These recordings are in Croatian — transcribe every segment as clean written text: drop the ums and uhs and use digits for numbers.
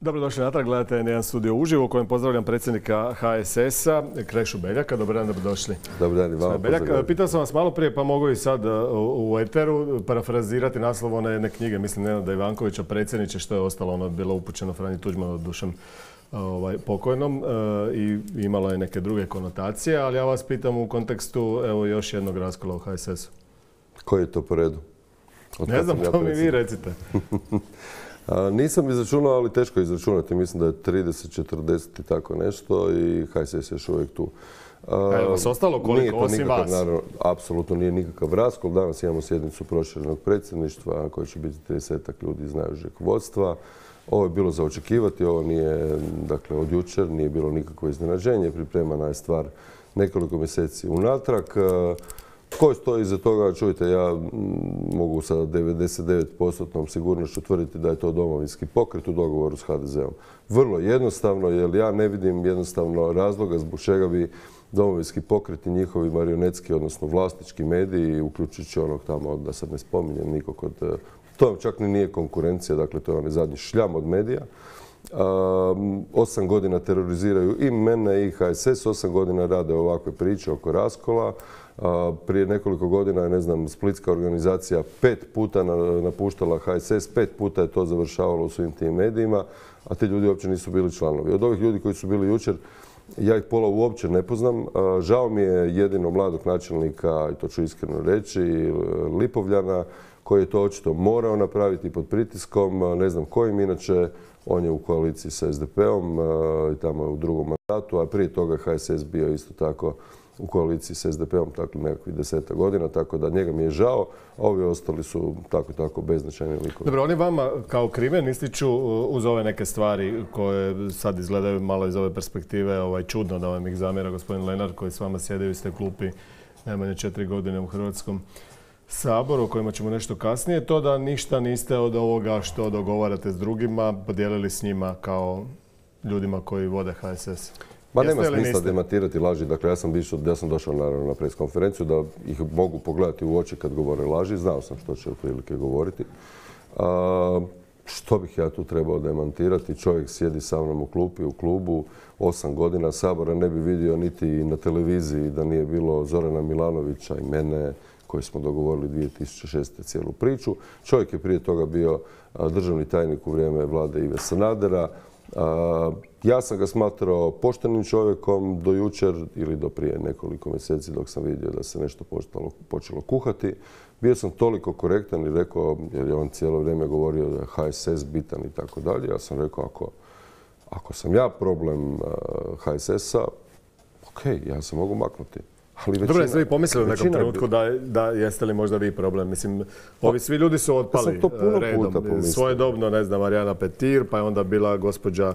Dobrodošli natrag, gledate jedan studio uživo u kojem pozdravljam predsjednika HSS-a, Krešu Beljaka. Dobar dan, dobrodošli. Dobar dan i vama. Beljak, pitao sam vas malo prije, pa mogu i sad u eteru parafrazirati naslov one jedne knjige, mislim Nenada Ivankovića, Predsjedniče, što je ostalo, ono bilo upućeno Franji Tuđmanu, dušom pokojnom, i imalo je neke druge konotacije, ali ja vas pitam u kontekstu evo još jednog raskola u HSS-u. Koji je to po redu? Ne znam, to mi vi recite. Nisam izračunao, ali teško je izračunati. Mislim da je 30, 40 i tako nešto i HSS je još uvijek tu. A je vas ostalo koliko osim vas? Naravno, apsolutno nije nikakav raskol. Danas imamo sjednicu proširenog predsjedništva koja će biti 30 ljudi iz najužeg vodstva. Ovo je bilo za očekivati, ovo nije, dakle, od jučer, nije bilo nikakvo iznenađenje. Pripremana je stvar nekoliko mjeseci unatrag. Tko stoji iza toga? Čujte, ja mogu sa 99% sigurnošću tvrditi da je to Domovinski pokret u dogovoru s HDZ-om. Vrlo jednostavno, jer ja ne vidim jednostavno razloga zbog čega bi Domovinski pokret i njihovi marionetski, odnosno vlasnički mediji, uključujući onog tamo, da sad ne spominjem nikog od... To čak ni nije konkurencija, dakle to je onaj zadnji šljam od medija. 8 godina teroriziraju i mene i HSS, 8 godina rade ovakve priče oko raskola. Prije nekoliko godina je, ne znam, splitska organizacija 5 puta napuštala HSS, 5 puta je to završavalo u svim tim medijima, a ti ljudi uopće nisu bili članovi. Od ovih ljudi koji su bili jučer, ja ih pola uopće ne poznam. Žao mi je jedino mladog načelnika, i to ću iskreno reći, Lipovljana, koji je to očito morao napraviti pod pritiskom, ne znam kojim, inače on je u koaliciji sa SDP-om i tamo je u drugom mandatu, a prije toga HSS bio isto tako u koaliciji s SDP-om, tako nekakvih 10 godina, tako da njega mi je žao, a ovi ostali su tako beznačajni likovi. Dobro, oni vama kao krimen ističu uz ove neke stvari koje sad izgledaju malo iz ove perspektive čudno da vam ih zamjera gospodin Lenar koji s vama sjede u iste klupi najmanje 4 godine u Hrvatskom saboru, o kojima ćemo nešto kasnije, to da ništa niste od ovoga što dogovarate s drugima podijelili s njima kao ljudima koji vode HSS. Ma nema smisla demantirati laži. Dakle, ja sam došao naravno na preskonferenciju da ih mogu pogledati u oči kad govore laži. Znao sam što će otprilike govoriti. Što bih ja tu trebao demantirati? Čovjek sjedi sa mnom u klupi, u klubu, 8 godina Sabora ne bi vidio niti na televiziji da nije bilo Zorana Milanovića i mene, koji smo dogovorili 2006. cijelu priču. Čovjek je prije toga bio državni tajnik u vrijeme vlade Ive Sanadera. Ja sam ga smatrao poštenim čovjekom do jučer ili do prije nekoliko mjeseci dok sam vidio da se nešto počelo kuhati. Bio sam toliko korektan i rekao, jer je on cijelo vrijeme govorio da je HSS bitan i tako dalje. Ja sam rekao, ako sam ja problem HSS-a, ok, ja se mogu maknuti. Dobro, jeste vi pomislili u nekom trenutku da jeste li možda vi problem? Mislim, ovi svi ljudi su otpali redom. Svojedobno, ne znam, Marijana Petir, pa je onda bila gospođa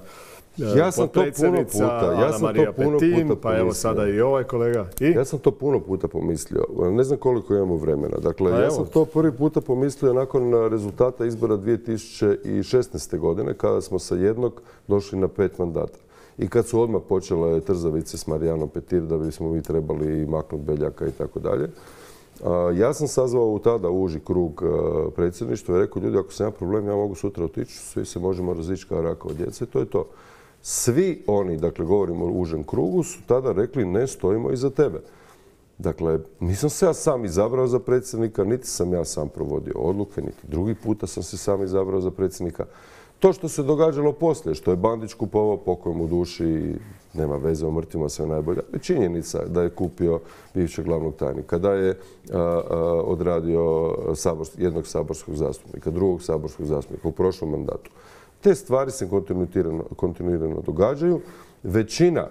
potpredsjednica Ana Marija Petin, pa evo sada i ovaj kolega. Ja sam to puno puta pomislio. Ne znam koliko imamo vremena. Dakle, ja sam to prvi puta pomislio nakon rezultata izbora 2016. godine, kada smo sa jednog došli na 5 mandata. I kad su odmah počele trzavice s Marijanom Petir da bismo mi trebali maknuti Beljaka i tako dalje. Ja sam sazvao tada uži krug predsjedništva i rekao, ljudi, ako sam ja problem, ja mogu sutra otići, svi se možemo razići kao rakova djeca i to je to. Svi oni, dakle govorimo o užem krugu, su tada rekli ne stojimo iza tebe. Dakle, nisam se ja sam izabrao za predsjednika, niti sam ja sam provodio odluke, niti drugi puta sam se sam izabrao za predsjednika. To što se događalo poslije, što je Bandić kupovao pokojem u duši, nema veze, o mrtvima sve najbolje. Činjenica da je kupio bivšeg glavnog tajnika, da je odradio jednog saborskog zastupnika, drugog saborskog zastupnika u prošlom mandatu. Te stvari se kontinuirano događaju. Većina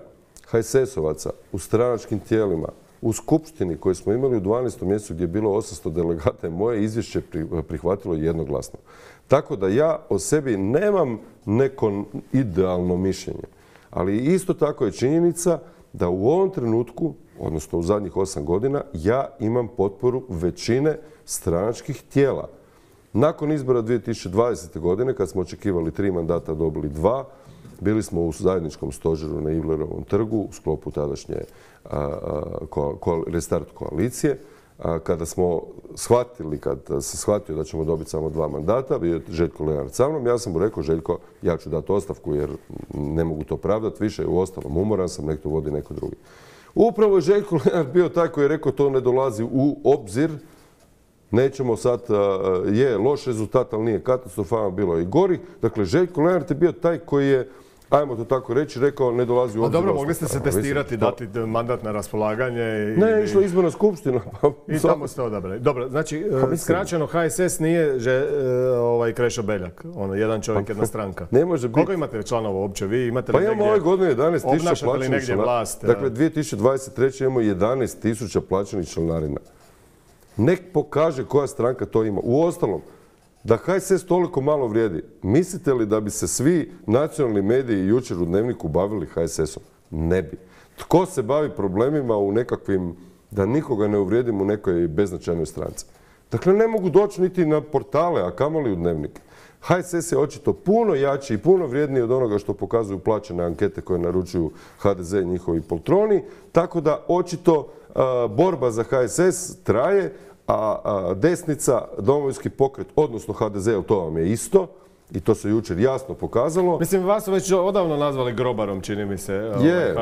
HSS-ovaca u stranačkim tijelima, u skupštini koju smo imali u 12. mjesecu gdje je bilo 800 delegata, moje izvješće prihvatilo jednoglasno. Tako da ja o sebi nemam neko idealno mišljenje. Ali isto tako je činjenica da u ovom trenutku, odnosno u zadnjih 8 godina, ja imam potporu većine stranačkih tijela. Nakon izbora 2020. godine, kad smo očekivali 3 mandata, dobili 2, bili smo u zajedničkom stožeru na Ivlerovom trgu u sklopu tadašnje restart koalicije. kada smo shvatili, kad se shvatio da ćemo dobiti samo 2 mandata, bio je Željko Lenart sa mnom, ja sam mu rekao, Željko, ja ću dati ostavku jer ne mogu to pravdati više, u ostalom umoran sam, nek to vodi neko drugi. Upravo je Željko Lenart bio taj koji je rekao to ne dolazi u obzir, nećemo sad, je loš rezultat, ali nije katastrofalan, bilo je i gori. Dakle, Željko Lenart je bio taj koji je, ajmo to tako reći, rekao ne dolazi u obzir. Dobro, mogli ste se testirati, dati mandat na raspolaganje. Ne, išla izborna skupština. I tamo ste odabrali. Dobro, znači, skraćeno HSS nije Krešo Beljak, jedan čovjek, jedna stranka. Ne može biti. Koliko imate članova uopće? Vi imate li negdje? Pa imamo ove godine 11.000 plaćenih članarina. Dakle, 2023. imamo 11.000 plaćenih članarina. Nek pokaže koja stranka to ima. Uostalom, da HSS toliko malo vrijedi, mislite li da bi se svi nacionalni mediji jučer u Dnevniku bavili HSS-om? Ne bi. Tko se bavi problemima u nekakvim, da nikoga ne uvrijedim, u nekoj beznačajnoj stranci? Dakle, ne mogu doći niti na portale, a kamoli u Dnevnike. HSS je očito puno jači i puno vrijedniji od onoga što pokazuju plaćene ankete koje naručuju HDZ i njihovi poltroni, tako da očito borba za HSS traje, a desnica, Domovinski pokret, odnosno HDZ, to vam je isto, i to se jučer jasno pokazalo. Mislim, vas su već odavno nazvali grobarom, čini mi se,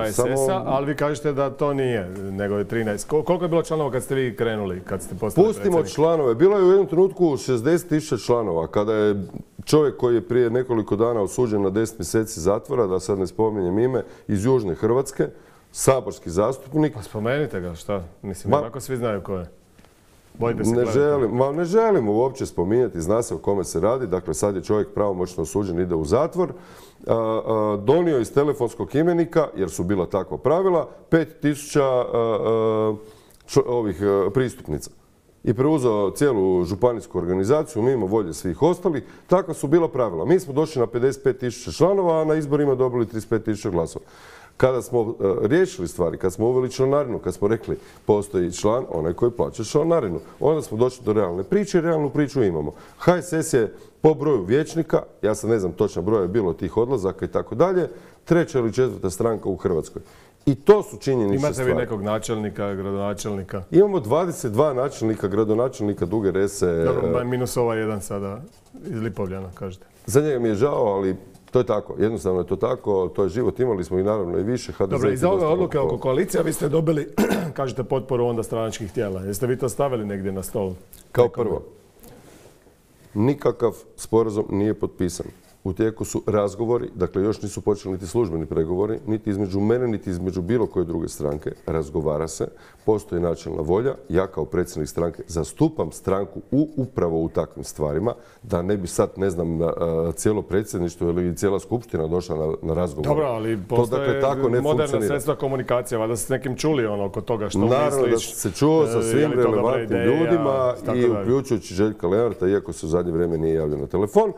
HSS-a, ali vi kažete da to nije, nego je 13. Koliko je bilo članova kad ste vi krenuli, kad ste postali predsjednik? Pustimo članove. Bilo je u jednom trenutku 60.000 članova, kada je čovjek koji je prije nekoliko dana osuđen na 10 mjeseci zatvora, da sad ne spominjem ime, iz Južne Hrvatske, saborski zastupnik. Pa spomenite ga, šta? Mislim, onako svi znaju ko je. Ne želimo uopće spominjati, zna se o kome se radi. Dakle, sad je čovjek pravomoćno osuđen, ide u zatvor. Donio iz telefonskog imenika, jer su bila takva pravila, 5.000 pristupnica. I preuzeo cijelu županijsku organizaciju mimo volje svih ostalih. Takva su bila pravila. Mi smo došli na 55.000 članova, a na izborima dobili 35.000 glasova. Kada smo riješili stvari, kad smo uveli članarinu, kad smo rekli postoji član, onaj koji plaća članarinu, onda smo došli do realne priče i realnu priču imamo. HSS je po broju vijećnika, ja sad ne znam točno broja je bilo tih odlazaka i tako dalje, 3. ili 4. stranka u Hrvatskoj. I to su činjenične stvari. Imate vi nekog načelnika, gradonačelnika? Imamo 22 načelnika, gradonačelnika Duge Rese. Dobro, minus jedan sada iz Lipovljana, kažete. Za njega mi je žao, ali to je tako. Jednostavno je to tako. To je život. Imali smo i naravno i više. Dobro, i za ove odluke oko koalicija vi ste dobili, kažete, potporu onda stranačkih tijela. Jeste vi to stavili negdje na stol? Kao prvo, nikakav sporazum nije potpisan. U tijeku su razgovori, dakle još nisu počeli niti službeni pregovori, niti između mene, niti između bilo koje druge stranke. Razgovara se, postoji načelna volja. Ja kao predsjednik stranke zastupam stranku upravo u takvim stvarima, da ne bi sad, ne znam, cijelo predsjedništvo ili cijela skupština došla na razgovor. Dobro, ali postoje moderna sredstva komunikacije, valjda ste s nekim čuli oko toga što misliš. Naravno da se čuo sa svim relevantnim ljudima i uključujući Željka Lenarta, iako se u zadnje vrijeme nije javljao na telefon.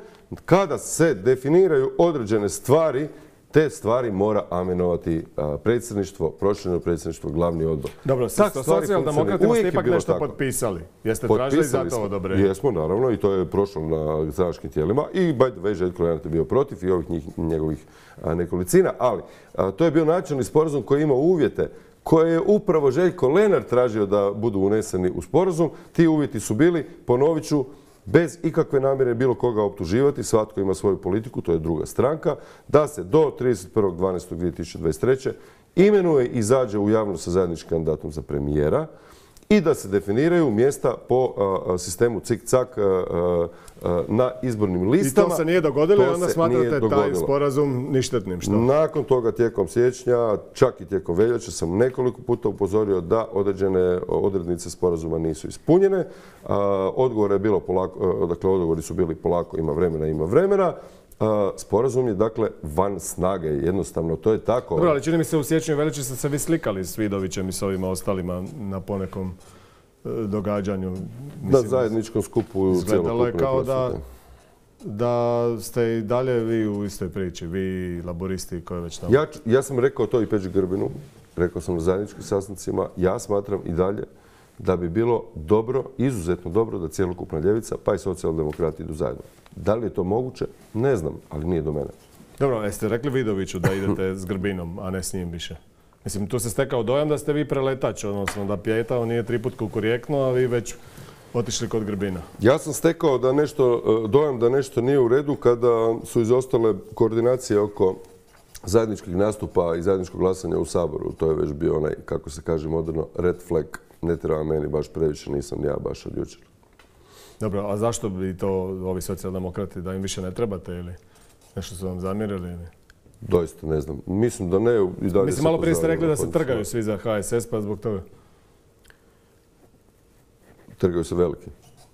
Kada se definiraju određene stvari, te stvari mora amenovati predsjedništvo, prošireno predsjedništvo, glavni odbor. Dobro, sa socijaldemokratima ste ipak nešto potpisali. Jeste tražili za to odobrenje? Jesmo, naravno, i to je prošlo na stranačkim tijelima. I by the way, Željko Lenart je bio protiv i ovih njegovih nekolicina. Ali to je bio načelni sporazum koji ima uvjete koje je upravo Željko Lenart tražio da budu uneseni u sporazum. Ti uvjeti su bili, ponovit ću, bez ikakve namjere bilo koga optuživati, svatko ima svoju politiku, to je druga stranka, da se do 31.12.2023. imenuje i izađe u javnost sa zajedničkim kandidatom za premijera i da se definiraju mjesta po sistemu cik-cak na izbornim listama. I to se nije dogodilo i onda smatrate taj sporazum ništetnim, što? Nakon toga, tijekom siječnja, čak i tijekom veljače, sam nekoliko puta upozorio da određene odrednice sporazuma nisu ispunjene. Odgovori su bili polako, ima vremena. Sporazum je, dakle, van snage. Jednostavno, to je tako. Dobro, ali čini mi se u siječnju i veljači ste se vi slikali s Vidovićem i s ovima ostalima na ponekom događanju. Na zajedničkom skupu. Izgledalo je kao da ste i dalje vi u istoj priči, vi laboristi koji već tamo. Ja sam rekao to i Peđi Grbinu, rekao sam na zajedničkim sastancima, ja smatram i dalje da bi bilo dobro, izuzetno dobro da cjelokupna ljevica pa i socijaldemokrati idu zajedno. Da li je to moguće? Ne znam, ali nije do mene. Dobro, jeste rekli Vidoviću da idete s Grbinom, a ne s njim više? Mislim, tu se stekao dojam da ste vi preletač, odnosno da Pijetao nije 3 put kukurjekno, a vi već otišli kod Grbina. Ja sam stekao dojam da nešto nije u redu kada su izostale koordinacije oko zajedničkih nastupa i zajedničkog glasanja u Saboru. To je već bio onaj, kako se kaže moderno, red flag. Ne treba meni baš previše, nisam ja baš od jučer. Dobro, a zašto bi to ovi socijaldemokrati, da im više ne trebate ili nešto su vam zamjerili? Ili? Doista ne znam. Mislim da ne. Mislim, malo prije ste rekli da se trgaju svi za HSS, pa zbog toga. Trgaju se veliki.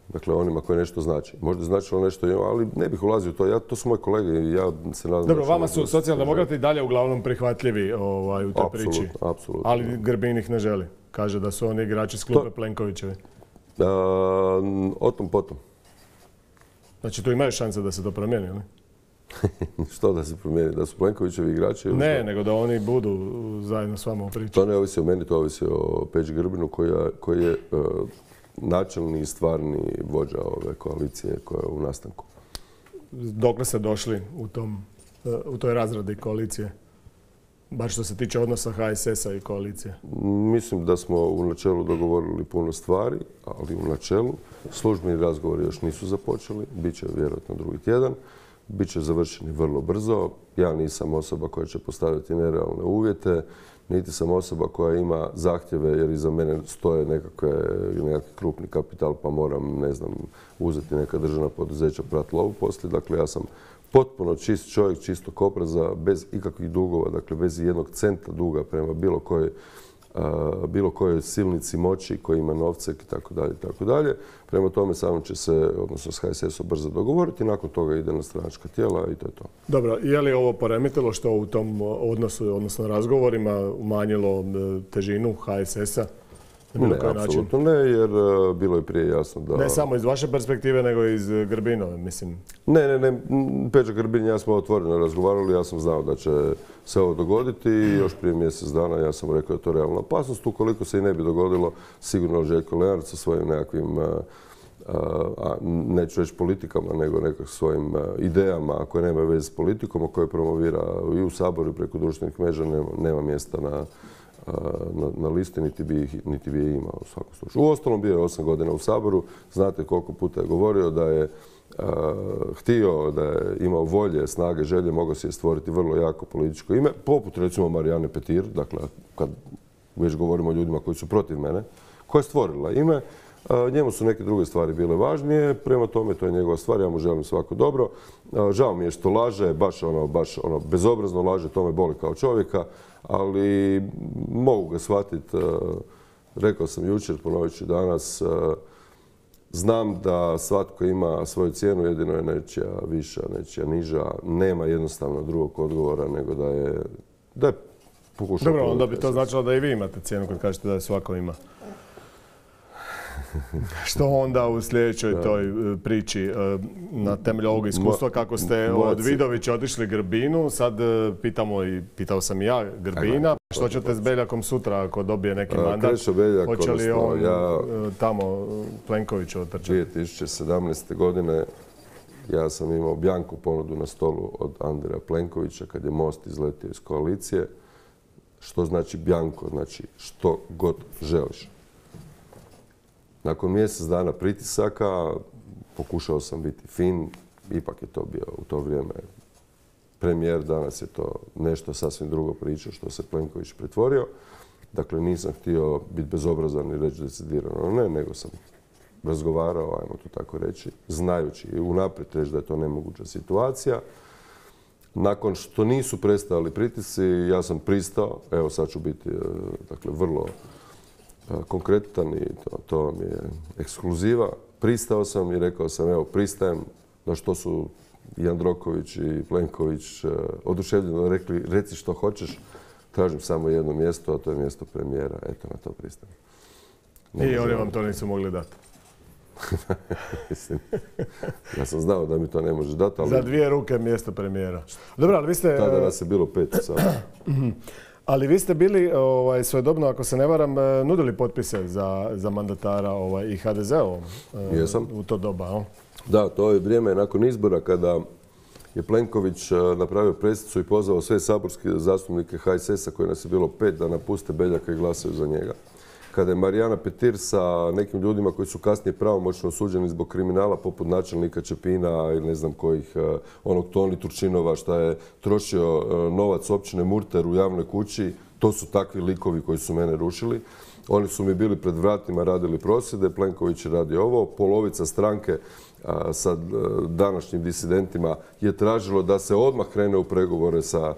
Dakle, onima koji nešto znači. Možda značilo nešto, ali ne bih ulazio u to. To su moji kolege i ja se nadam... Dobro, vama su socijaldemokrati dalje uglavnom prihvatljivi u toj priči. Apsolutno. Ali Grbin ih ne želi. Kaže da su oni igrači s klupe Plenkovićevi. O tom potom. Znači, tu imaju šanse da se to promijeni, ili? Što da se promijeni? Da su Plenkovićevi igrači? Ne, nego da oni budu zajedno s vama u priči. To ne ovisi o meni, to ovisi o Peđi Grbinu koji je načelni i stvarni vođa ove koalicije koja je u nastanku. Dokle ste došli u toj razradi koalicije? Bar što se tiče odnosa HSS-a i koalicije. Mislim da smo u načelu dogovorili puno stvari, ali u načelu službeni razgovori još nisu započeli. Biće vjerojatno drugi tjedan. Biće završeni vrlo brzo. Ja nisam osoba koja će postaviti nerealne uvjete, niti sam osoba koja ima zahtjeve jer iza mene stoje nekakvi krupni kapital pa moram, ne znam, uzeti neka državna poduzeća, prati lovu poslije. Dakle, ja sam potpuno čist čovjek, čistog obraza, bez ikakvih dugova, dakle bez jednog centa duga prema bilo kojoj silnici moći koji ima novce i tako dalje, tako dalje. Prema tome samo će se, odnosno s HSS-om brzo dogovoriti, nakon toga ide na stranačka tijela i to je to. Dobro, je li ovo poremetilo što u tom odnosu, odnosno razgovorima, umanjilo težinu HSS-a? Ne, apsolutno ne, jer bilo je prije jasno da... Ne samo iz vaše perspektive, nego i iz Grbinove, mislim. Ne. Peđa Grbin i ja smo otvoreno razgovarali, ja sam znao da će se ovo dogoditi i još prije mjesec dana ja sam rekao da je to realna opasnost. Ukoliko se i ne bi dogodilo, sigurno Željko Lenart sa svojim nekakvim, neću reći politikama, nego nekakvim svojim idejama koje nemaju veze s politikom, a koje promovira i u Saboru i preko društvenih mreža, nema mjesta na listi, niti bi je imao u svakom slučaju. Uostalom bio je 8 godina u Saboru, znate koliko puta je govorio da je htio, da je imao volje, snage, želje, mogao si je stvoriti vrlo jako političko ime, poput recimo Marijane Petir, dakle kad već govorimo o ljudima koji su protiv mene, koja je stvorila ime. Njemu su neke druge stvari bile važnije, prema tome to je njegova stvar, ja mu želim svako dobro. Žao mi je što laže, baš ono bezobrazno laže, to me boli kao čovjeka, ali mogu ga shvatiti, rekao sam jučer, ponovit ću danas, znam da svatko ima svoju cijenu, jedino je nečija viša, nečija niža, nema jednostavno drugog odgovora nego da je pokušao... Dobro, onda bi to značilo da i vi imate cijenu kad kažete da je svako ima. Što onda u sljedećoj toj priči na temelju ovog iskustva kako ste od Vidovića otišli Grbinu, sad pitao sam i ja Grbina, što ćete s Beljakom sutra ako dobije neki mandat? Hoće li on tamo Plenkoviću otrčati? 2017. godine ja sam imao bjanku ponudu na stolu od Andreja Plenkovića kad je Most izletio iz koalicije. Što znači bjanko? Znači što god želiš. Nakon mjesec dana pritisaka pokušao sam biti fin, ipak je to bio u to vrijeme premijer, danas je to nešto sasvim drugo priča što se Plenković pretvorio. Dakle, nisam htio biti bezobrazan i reći decidirano ne, nego sam razgovarao, ajmo to tako reći, znajući i unaprijed reći da je to nemoguća situacija. Nakon što nisu prestajali pritisci, ja sam pristao, evo sad ću biti vrlo konkretan i to vam je ekskluziva. Pristao sam i rekao sam, evo, pristajem, na što su Jandroković i Plenković oduševljeno rekli, reci što hoćeš, tražim samo jedno mjesto, a to je mjesto premijera. Eto, na to pristajem. I oni vam to nisu mogli dati? Ja sam znao da mi to ne može dati, ali... Za 2 ruke mjesto premijera. Dobro, ali vi ste... Tada nas je bilo 5 sada. Ali vi ste bili svojedobno, ako se ne varam, nudili potpise za mandatara i HDZ-ovom u to doba. Da, to je vrijeme nakon izbora kada je Plenković napravio pressicu i pozvao sve saborske zastupnike HSS-a koji nas je bilo 5 da napuste Beljaka i glasaju za njega. Kada je Marijana Petir sa nekim ljudima koji su kasnije pravomoćno osuđeni zbog kriminala poput načelnika Čepina ili ne znam kojih, onog Toni Turčinova šta je trošio novac općine Murter u javnoj kući, to su takvi likovi koji su mene rušili. Oni su mi bili pred vratima, radili prosvjede, Plenković je radio ovo, polovica stranke sa današnjim disidentima je tražilo da se odmah krene u pregovore sa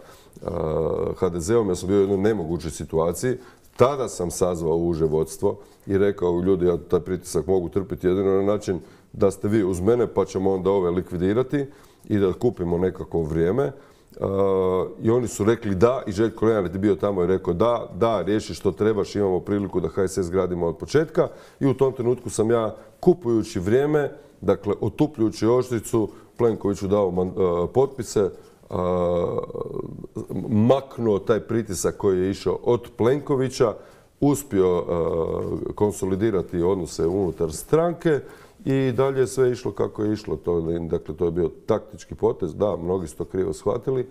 HDZ-om. Ja sam bio u jednoj nemogućoj situaciji. Tada sam sazvao uže vodstvo i rekao ljudi, ja taj pritisak mogu trpiti jedino na način da ste vi uz mene pa ćemo onda ove likvidirati i da kupimo nekako vrijeme. I oni su rekli da i Željko Lenart je bio tamo i rekao da, riješi što trebaš, imamo priliku da HSS gradimo od početka. I u tom trenutku sam ja kupujući vrijeme, dakle otupljujući oštricu, Plenkoviću dao potpise, maknuo taj pritisak koji je išao od Plenkovića, uspio konsolidirati odnose unutar stranke i dalje je sve išlo kako je išlo. Dakle, to je bio taktički potez. Da, mnogi su to krivo shvatili.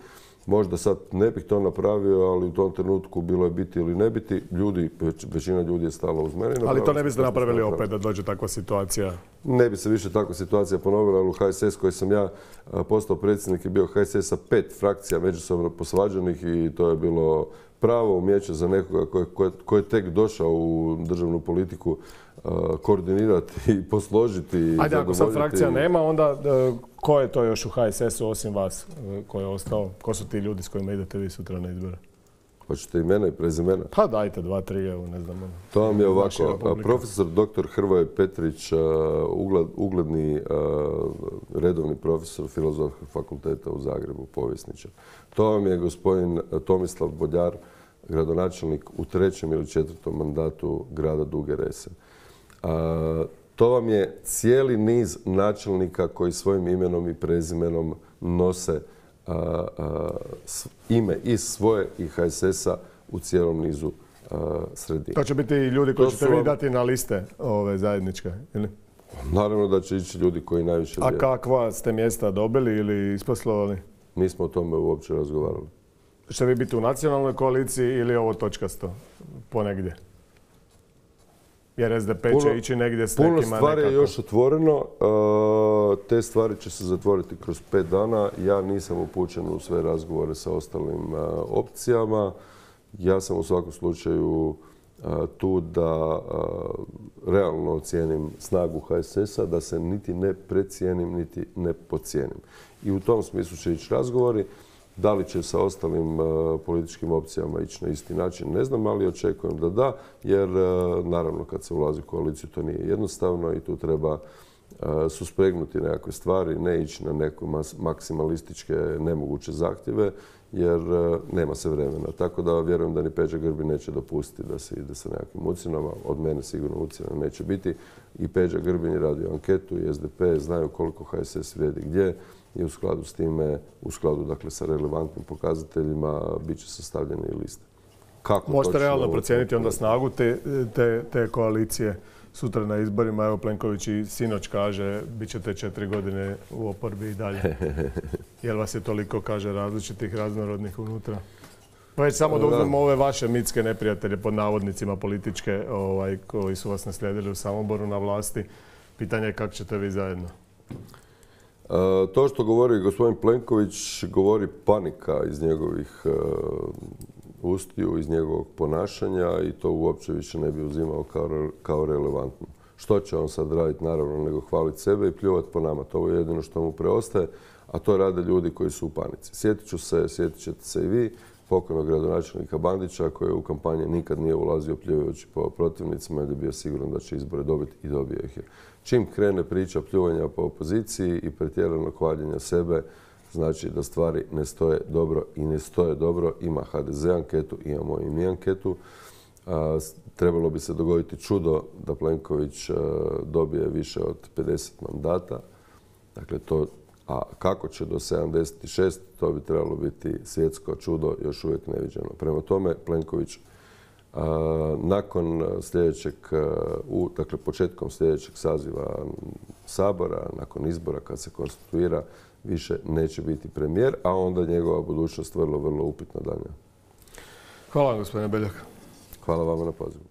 Možda sad ne bih to napravio, ali u tom trenutku bilo je biti ili ne biti. Većina ljudi je stala uz mene. Ali to ne biste napravili opet da dođe takva situacija? Ne bi se više takva situacija ponovila, ali u HSS koji sam ja postao predsjednik je bio HSS sa 5 frakcija međusobno posvađanih i to je bilo pravo umijeće za nekoga koji je tek došao u državnu politiku koordinirati i posložiti. Ajde, ako sad frakcija nema, onda ko je to još u HSS-u osim vas ko je ostao? Ko su ti ljudi s kojima idete vi sutra na izbore? Hoćete imena i prezimena? Pa dajte 2-3, evo ne znam. To vam je ovako. Profesor dr. Hrvoje Petrić, ugledni redovni profesor Filozofskog fakulteta u Zagrebu, povjesničar. To vam je gospodin Tomislav Boljar, gradonačelnik u 3. ili 4. mandatu grada Duge Rese. To vam je cijeli niz načelnika koji svojim imenom i prezimenom nose ime i svoje i HSS-a u cijelom nizu sredina. To će biti i ljudi koji ćete vi dati na liste ove zajedničke, ili? Naravno da će ići ljudi koji najviše vjeruju. A kakva ste mjesta dobili ili isposlovali? Nismo o tome uopće razgovarali. Ćete vi biti u nacionalnoj koaliciji ili ovo točkasto ponegdje? Jer SDP će ići negdje s nekima nekako. Puno stvari je još otvoreno. Te stvari će se zatvoriti kroz 5 dana. Ja nisam upućen u sve razgovore sa ostalim opcijama. Ja sam u svakom slučaju tu da realno ocijenim snagu HSS-a, da se niti ne precijenim, niti ne podcijenim. I u tom smislu će ići razgovori. Da li će sa ostalim političkim opcijama ići na isti način, ne znam, ali očekujem da, jer naravno kad se ulazi u koaliciju to nije jednostavno i tu treba suspregnuti nekakve stvari, ne ići na neke maksimalističke nemoguće zahtjeve, jer nema se vremena. Tako da vjerujem da ni Peđa Grbin neće dopustiti da se ide sa nekakvim ucjenama. Od mene sigurno ucjena neće biti. I Peđa Grbin je radio anketu i SDP znaju koliko HSS vrijedi gdje. I u skladu s time, u skladu dakle sa relevantnim pokazateljima, bit će sastavljene i liste. Možete realno procijeniti onda snagu te koalicije sutra na izborima? Evo Plenković i sinoć kaže bit ćete 4 godine u oporbi i dalje. Jel vas je toliko, kaže, različitih, raznorodnih unutra? Pa već samo da uzmemo ove vaše mitske neprijatelje pod navodnicima političke koji su vas naslijedili u Samoboru na vlasti. Pitanje je kako ćete vi zajedno? To što govori gospodin Plenković govori panika iz njegovih ustiju, iz njegovog ponašanja i to uopće više ne bi uzimao kao relevantno. Što će on sad raditi, naravno, nego hvaliti sebe i pljuvati po nama. To je jedino što mu preostaje, a to rade ljudi koji su u panici. Sjetit ćete se i vi, pokojnog gradonačelnika Bandića koji u kampanje nikad nije ulazio pljuvajući po protivnicima jer je bio siguran da će izbore dobiti i dobio ih je. Čim krene priča pljuvanja po opoziciji i pretjeranog hvaljenja sebe, znači da stvari ne stoje dobro i ne stoje dobro. Ima HDZ anketu, imamo i mi anketu. Trebalo bi se dogoditi čudo da Plenković dobije više od 50 mandata. Dakle, a kako će do 76, to bi trebalo biti svjetsko čudo, još uvijek neviđeno. Prema tome, Plenković nakon sljedećeg, dakle početkom sljedećeg saziva Sabora, nakon izbora kad se konstituira, više neće biti premijer, a onda njegova budućnost vrlo, vrlo upitna dalje. Hvala vam, gospodine Beljak. Hvala vama na pozivu.